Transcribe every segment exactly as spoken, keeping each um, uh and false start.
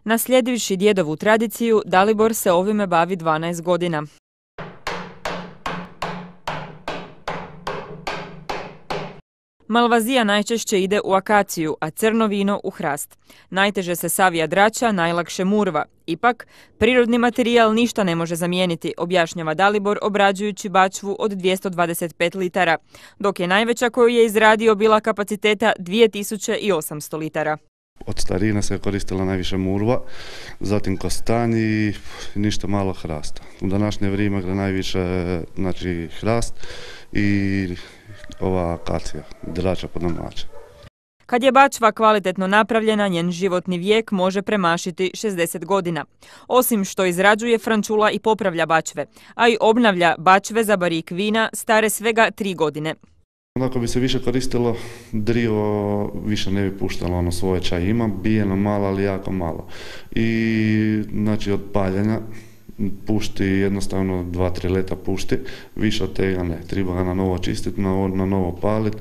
Naslijedivši djedovu tradiciju, Dalibor se ovime bavi dvanaest godina. Malvazija najčešće ide u akaciju, a crno vino u hrast. Najteže se savija drača, najlakše murva. Ipak, prirodni materijal ništa ne može zamijeniti, objašnjava Dalibor obrađujući bačvu od dvjesto dvadeset pet litara, dok je najveća koju je izradio bila kapaciteta dvije tisuće osamsto litara. Od starina se je koristila najviše murva, zatim kostanj i ništa malo hrasta. U današnje vrijeme gre najviše znači, hrast i ova akacija, drača po domaće. Kad je bačva kvalitetno napravljena, njen životni vijek može premašiti šezdeset godina. Osim što izrađuje, Frančula i popravlja bačve, a i obnavlja bačve za barik vina stare svega tri godine. Ako bi se više koristilo drvo, više ne bi puštalo ono svoje čaj. Ima bijeno malo, ali jako malo. I znači od paljenja pušti jednostavno dva tri leta pušti, više od tega ne. Treba ga na novo čistiti, na, na novo paliti.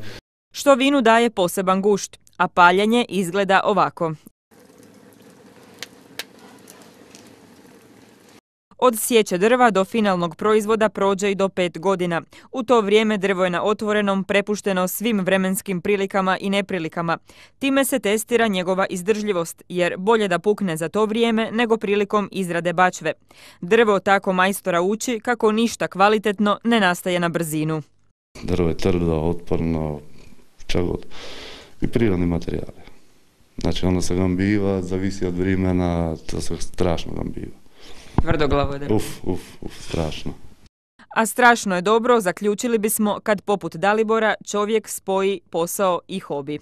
Što vinu daje poseban gušt, a paljenje izgleda ovako. Od sječe drva do finalnog proizvoda prođe i do pet godina. U to vrijeme drvo je na otvorenom prepušteno svim vremenskim prilikama i neprilikama. Time se testira njegova izdržljivost, jer bolje da pukne za to vrijeme nego prilikom izrade bačve. Drvo tako majstora uči kako ništa kvalitetno ne nastaje na brzinu. Drvo je tvrdo, otporno, čak god. I prirodni materijali. Znači ono se gambiva, zavisi od vremena, to se strašno gambiva. Tvrdoglavo drvo. Uf, uf, uf, strašno. A strašno je dobro, zaključili bismo, kad poput Dalibora čovjek spoji posao i hobi.